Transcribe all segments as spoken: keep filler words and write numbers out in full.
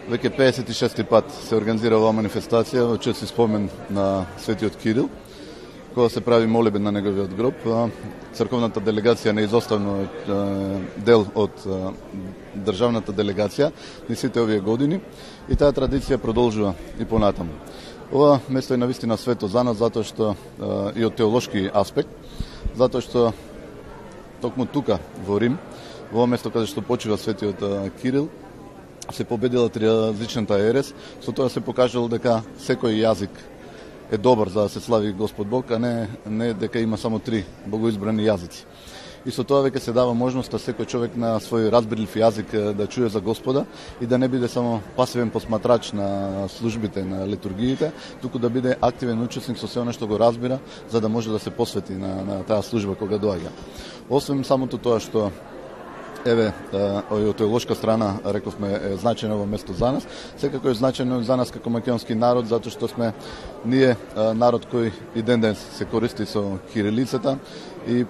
Веќе пеесет и шести пат се организира оваа манифестација во чест и спомен на светиот Кирил, кога се прави молебен на неговиот гроб. Црковната делегација неизоставно дел од државната делегација низ сите овие години и таа традиција продолжува и понатаму. Ова место е навистина свето за нас, затоа што и од теолошки аспект, затоа што токму тука во Рим, во ова место каде што почива светиот Кирил, се победила тријазичната ерес, со тоа се покажало дека секој јазик е добар за да се слави Господ Бог, а не, не дека има само три богоизбрани јазици. И со тоа веќе се дава можноста секој човек на свој разбирлив јазик да чуе за Господа и да не биде само пасивен посматрач на службите, на литургиите, туку да биде активен учесник со се она што го разбира, за да може да се посвети на, на таа служба кога доаѓа. Освен самото тоа што еве, од теолошка страна, рековме, е значено во место за нас, секако е значено за нас како македонски народ, затоа што сме ние народ кој и ден ден се користи со кирилицата и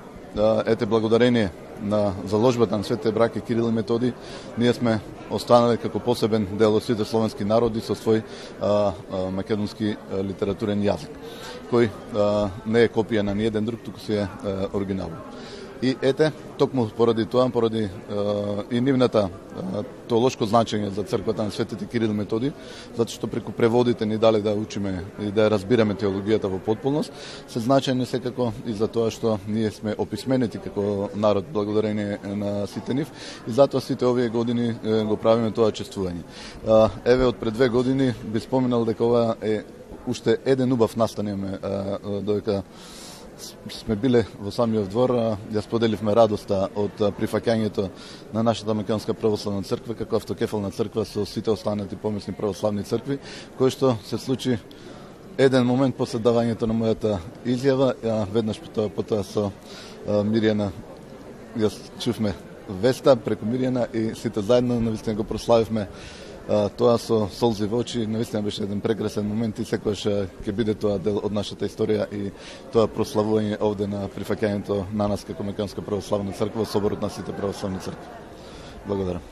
ете, благодарение на заложбата на светите браќа Кирил и Методи, ние сме останали како посебен дел од сите словенски народи со свој а, а, македонски а, литературен јазик, кој а, не е копија на ниеден друг, туку си е а, оригинално. И ете, токму поради тоа, поради е, и нивната е, теолошко значење за црквата на светите Кирил и Методи, затоа што преку преводите ни дали да учиме и да разбираме теологијата во потполност, се значени секако и за тоа што ние сме описменети како народ благодарение на сите нив и затоа сите овие години е, го правиме тоа чествување. Е, еве, од пред две години би споменал дека ова е уште еден убав настан имаме, додека сме биле во самиот двор, ја споделивме радоста од прифаќањето на нашата македонска православна црква како автокефална црква со сите останати помесни православни цркви, кој што се случи еден момент после давањето на мојата изјава, веднаш потоа, потоа со Мирјана ја чувме веста преку Мирјана и сите заедно навистина го прославивме тоа со солзи во очи. Навистина беше еден прекрасен момент и секогаш ќе биде тоа дел од нашата историја и тоа прославување овде на прифаќањето на нас како македонска православна црква, соборот на сите православни цркви. Благодарам.